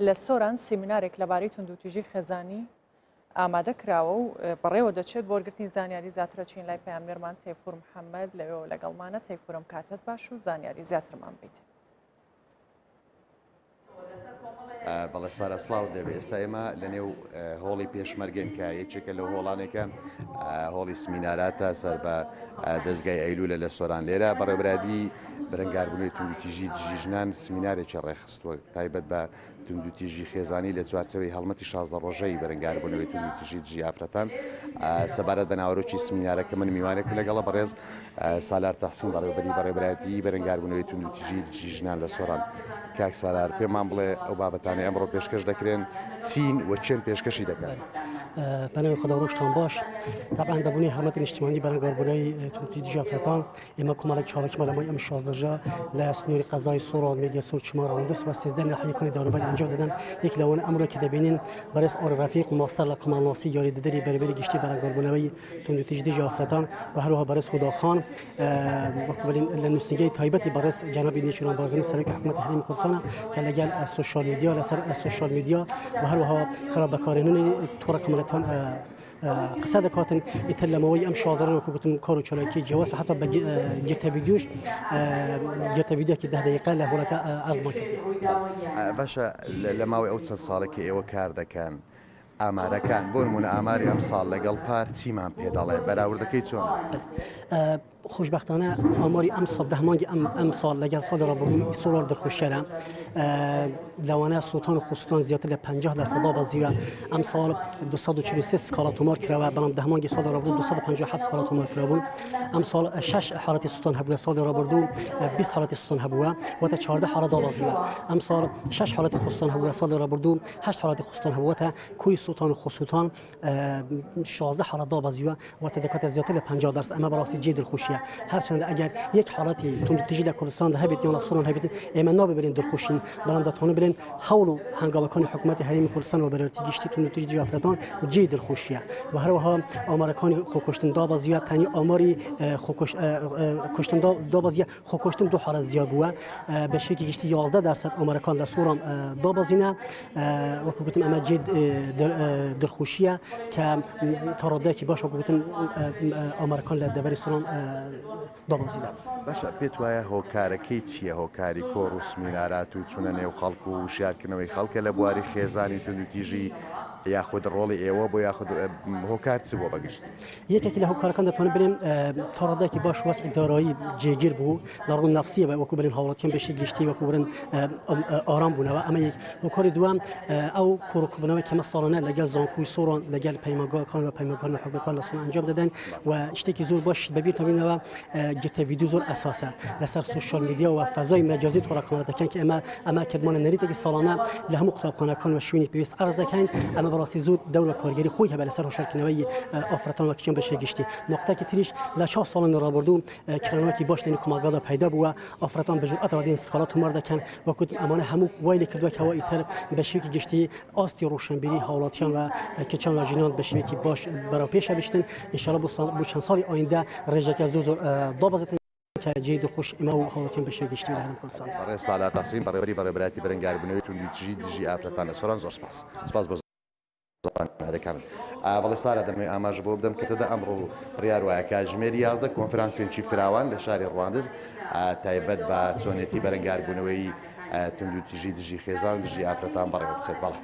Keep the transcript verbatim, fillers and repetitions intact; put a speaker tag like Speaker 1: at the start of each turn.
Speaker 1: لە سۆران سیمینارێک لەبارەی توندوتیژی خێزانی ئامادە کراوە و بەڕێوە دەچێت. بۆ وەرگرتنی زانیاری زیاترە چین لای پەیامنێرمان تەیفور محەممەد لەوێوە لەگەڵمانە. تەیفورم کاتت باش و زانیاری زیاترمان بیت.
Speaker 2: بەڵێ سارە سڵاو دەبێت. ئێستا ئێمە لەنێو هۆڵی پێشمەرگەین کە یەکێکە لەو هۆڵانێکە هۆڵی سمیناراتە سەر بە دەستگای ئەیلولە لە سۆران. لێرە بەڕێوەبەرایەتی بەرەنگاربوونەوەی توندوتیژی دژی ژنان سمینارێکی ڕێکخستووە تایبەت بە توندوتیژی خێزانی لە چوارچێوەی هەڵمەتی شازدە ڕۆژەی بەرەنگاربوونەوەی توندوتیژی دژی ئافرەتان. سەبارەت بە ناوەرۆکی سمینارەکە من میوانێکم لەگەڵە بەڕێز سالار تەحسین بەڕێوەبەری بەڕێوەبەرایەتی بەرەنگاربوونەوەی توندوتیژی دژی ژنان لە سۆران. کاک سالار، پێمان بڵێ ئەو بابەتانەی ئەمڕۆ پێشکەش دەکرێن چین و چێن پێشکەشی دەکەن؟
Speaker 3: بەناوی خدا ڕۆژتان باش. طبعا بە بوونی هەڵمەتی نیشتمانی بەرەنگاربوونەوەی توندوتیژی دژی ئافرەتان ئێمە کۆمەڵێک چالاکیمان لە ماوەی ئەم شازدە ڕۆژە لە سنووری قەزای سۆران، مێدیا سۆر، چما، ڕەواندز و سێزدە ناحیەکانی دەوروبەر ئەنجام دەدەن. یەک لەوانە ئەمڕۆ کە دەبینین بەڕێز ئارف ڕەفیق ماستەر لە کۆمەڵناسی یاریدەدەری بەرێوەبەری گشتی بەرەنگاربوونەوەی توندوتیژی دژی ئافرەتان و هەروەها بەڕێز خوداخان وەکو بڵێن لە نووسینگەی تایبەتی بەڕێز جەنابی نێچیروان بارزانی سەرۆکی حکوومەتی هەرێمی کوردستانە کە لەگەڵ social media لەسەر social media و هەروەها خراپ بەکارهێنانی تۆڕە کۆمەڵایەتیەکان قسە دەکاتن. ئیتر لە ماوەی ئەم شازدە ڕۆژە وەکو گوتم کار و چالاکی جیاواز و حتا بە گرتە ڤیدیۆش گرتە ڤیدیۆکی ده دقیقە لە هۆڵەکە ئەزمان کردی.
Speaker 2: باشە، لە ماوەی ئەو چەند ساڵە کە ئێوە کار دەکەن ئامارەکان بۆ نمونە ئاماری ئەم ساڵ لەگەڵ پار چیمان پێ دەڵێ؟ بەراوردەکەی چۆنە؟
Speaker 3: خۆشبەختانە ئاماری ئەم ساڵ ده مانگی ئەم ئەم ساڵ لەگەڵ ساڵی ڕابردوو سۆلار دڵخۆشکەرە. لەوانە سوڵتان و خۆسوڵتان زیاتر لە پەنجاه دەرسەد دابەزیوە. ئەم ساڵ دوو سەد و چل و سێ سکاڵا تۆمار کراوە، بەڵام ده مانگی ساڵی ڕابردوو دوو سەد و پەنجاه و حەفت سکاڵا تۆمار کرابوون. ئەم ساڵ شەش حاڵەتی سوڵتان هەبووە، ساڵی ڕابردوو بیست حاڵەتی سوڵتان هەبووە، واتە چواردە حاڵەت دابەزیوە. ئەم ساڵ شەش حاڵەتی خۆسوڵتان هەبووە، ساڵی ڕابردوو هەشت حاڵەتی خۆسوڵتان هەبووە، کۆی سوڵتان و خۆسوڵتان شازدە حاڵەت دابەزیوە، واتە دەکاتە زیاتر لە پەنجاه دەرسەد. ئەمە بەڕاستی جێی دڵخۆشیە. هەرچەندە ئەگەر یەک حاڵەتی توندوتیژی لە کوردستاندا هەبێت یان لە سۆران هەبێت ئێمە نابێ بڵێن دڵخۆشین، بەڵام دەتوانین بڵێن هەوڵ و هەنگاوەکانی حکوومەتی هەرێمی کوردستان و بەرێوەبەرایەتی گشتی توندوتیژی دژی ئافرەتان جێی دڵخۆشیە. و هەروەها ئامارەکانی خۆکوشتن دابەزیوە، تەنیا ئاماری خۆکوشتن دابەزیە، خۆکوشتن دوو حاڵەت زیاد بووە، بە شێوەیەکی گشتی یازدە دەرسەد ئامارەکان لە سۆران دابەزینە. وەکو گوتم ئەمە جێی دڵخۆشیە کە تا ڕادەیەکی باش وەکو گوتم ئامارەکان لە دەڤەری سۆران دابەزینە.
Speaker 2: باشە، پێت وایە هۆکارەکەی چییە؟ هۆکاری کۆڕ و سمینارات و چوونە نێو خەڵک و وشیارکردنەوەی خەڵکە لە بواری خێزانی توندوتیژی یاخود ڕۆڵی ئێوە بۆ یاخود هۆکار چ بووە بەگشتی؟
Speaker 3: یەکێک لە هۆکارەکان دەتوانم بڵێم تا ڕادەیەکی باش وەزعی دارایی جێگیر بوو لە ڕوو نەفسیە وەکو بڵێن هاوڵاتیان بەشی گشتی وەکو بڵێن ئارام بوونەوە. ئەمە یەک هۆکاری دووەم ئەو کۆڕکردنەوەی کەمە ساڵانە لەگەڵ زانکۆی سۆران لەگەڵ پەیمانگاکان و پەیمانگاکان و حکومەتەکان لە سۆران ئەنجام دەدەن و شتێکی زۆر باش بەبیرتان بینەوە گرتە ڤیدیۆ زۆر ئەساسە لەسەر social media و فەزای مەجازی تۆڕە کۆمەڵایەتیەکان کە ئێمە ئەمە کردمانە نەریتێکی ساڵانە لە هەموو قوتابخانەکان و شوێنی پێویست عەرز دەکەین. ئەمە بەڕاستی زۆر دەور و کارگەری خۆی هەبێت لەسەر هۆشیارکردنەوەی ئافرەتان و کچان بە شێوەی گشتی. نقطەیەکی تریش لە چهار ساڵانی ڕابردوو کرانەوەکی باش لەنێو کۆمەڵگادا پەیدا بووە، ئافرەتان بە جورئەتەوە دێن سکاڵا تۆمار دەکەن وەکو ئەمانە هەموو وای لێ کردووە کەەوە ئیتر بە شێوەیەکی گشتی ئاستی ڕۆشنبیری هاوڵاتیان و کچان و ژنان بە شێوەیەکی باش بەرەو پێشە بشتن. ئینشاءڵڵا بۆ چەند ساڵی ئایندە ڕێژەکە زۆر زۆر دابەزێتن کە جێی دڵخۆش ئێمە و هاوڵاتیان بە شێوەی گشتی لە هەرێمی کوردستان.
Speaker 2: بەڕێز سالار تەحسین بەڕێوەبەری بەڕێوەبەرایەتی بەرەنگاربوونەوەی توندوتیژی دژی ئافرەتان لە سۆران، زۆر سپاس. سپاس بۆ زانیاریەکانت. بەڵێ سارا، دەمەوێت ئاماژە بۆ بدەم کە تەدا ئەمڕۆ بڕیار وایە کاتژمێری یازدە کۆنفرانسێکی فراوان لە شاری ڕواندز تایبەت بە چۆنێتی بەرەنگاربوونەوەی توندوتیژی دژی خێزان دژی ئافرەتان بەڕێوە بچێت. بەڵێ.